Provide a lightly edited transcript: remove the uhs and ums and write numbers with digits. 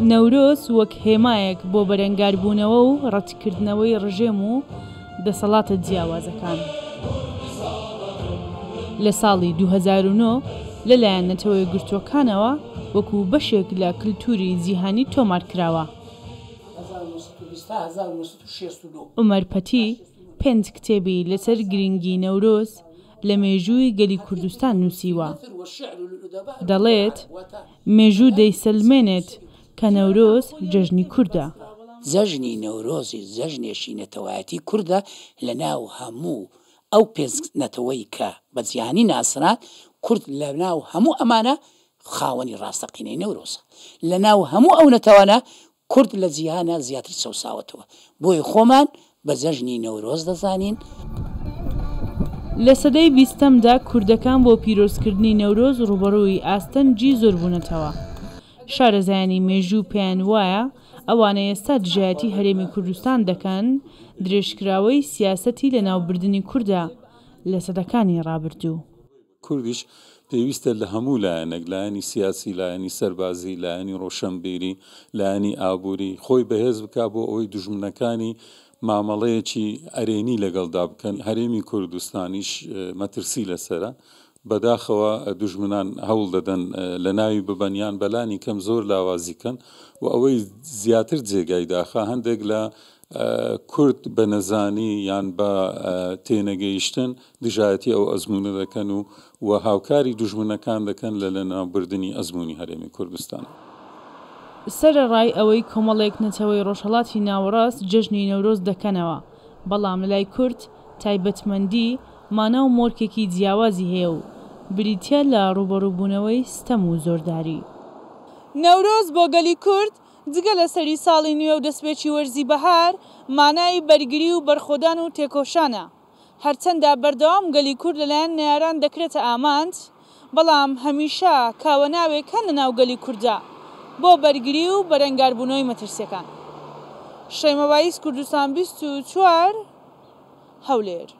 نەورۆز وەک هێمایەک بۆ بەرەنگاربوونەوە و ڕەتکردنەوەی ڕژێم و دەسەڵاتە جیاوازەکان. لە ساڵی 2009 لەلایەن نەتەوە یەکگرتووەکانەوە وەکو بەشێک لە کلتوری جیهانی تۆمارکراوە. عومەر پەتی پێنج کتێبی لەسەر گرنگی نەورۆز لە مێژووی گەلی کوردستان نووسیوە. دەڵێت، مێژوو دەیسەلمێنێت کە نەورۆز جەژنی کوردە. جەژنی نەورۆزیش جەژنێکی نەتەوایەتی کوردە لە ناو هەموو ئەو پێنج نەتەوەی کە بە جیهانی ناسران، کورد لە ناو هەموو ئەمانە خاوەنی ڕاستەقینەی نەورۆزە. لە ناو هەموو ئەو نەتەوانە کورد لە جیهانا زیاتر چەوساوەتەوە، بۆیە خۆمان بە جەژنی نەورۆز دەزانین. لە سەدەی بیستەمدا کوردەکان بۆ پیرۆزکردنی نەورۆز ڕووبەڕووی ئاستەنگی زۆر بوونەتەوە. شارەزایانی مێژوو پێیان وایە ئەوانەی ئێستا دژایەتی هەرێمی کوردستان دەکەن، درێژکراوەی سیاسەتی لەناوبردنی کوردە لە سەدەکانی ڕابردوو. کوردیش پێویستە لە هەموو لایەنێک، لایەنی سیاسی، لایەنی سەربازی، لایەنی ڕۆشەنبیری، لایەنی ئابووری، خۆی بەهێز بکا بۆ ئەوەی دوژمنەکانی مامەڵەیەکی ئەرێنی لەگەڵدا بکەن. هەرێمی کوردستانیش مەترسی لەسەرە. بەداخەوە دوژمنان هەوڵ دەدەن لەناوی ببەن یان بەلانی کەم زۆر لاوازی کەن و ئەوەی زیاتر جێگای داخە هەندێک لە کورد بە نەزانی یان بە تێنەگەیشتن دژایەتی ئەو ئەزموونە دەکەن و و هاوکاری دوژمنەکان دەکەن لە لەناوبردنی ئەزموونی هەرێمی کوردستان. سەرەڕای ئەوەی کۆمەڵێک نەتەوەی ڕۆژهەڵاتی ناوەڕاست جەژنی نەورۆز دەکەنەوە، بەڵام لەلای کورد تایبەتمەندی، مانا و مۆرکێکی جیاوازی هەیە و بریتییە لە ڕووبەڕووبوونەوەی ستەم و زۆرداری. نەورۆز بۆ گەلی کورد جگە لە سەری ساڵی نوێ و دەستپێکی وەرزی بەهار، مانای بەرگری و بەرخۆدان و تێکۆشانە. هەرچەندە بەردەوام گەلی کورد لەلایەن نەیاران دەکرێتە ئامانج، بەڵام هەمیشە کاوەناوێک هەن لەناو گەلی کورددا بۆ بەرگری و بەرەنگاربوونەوەی مەترسییەکان. شەیمە بایز کوردستان 24، هەولێر.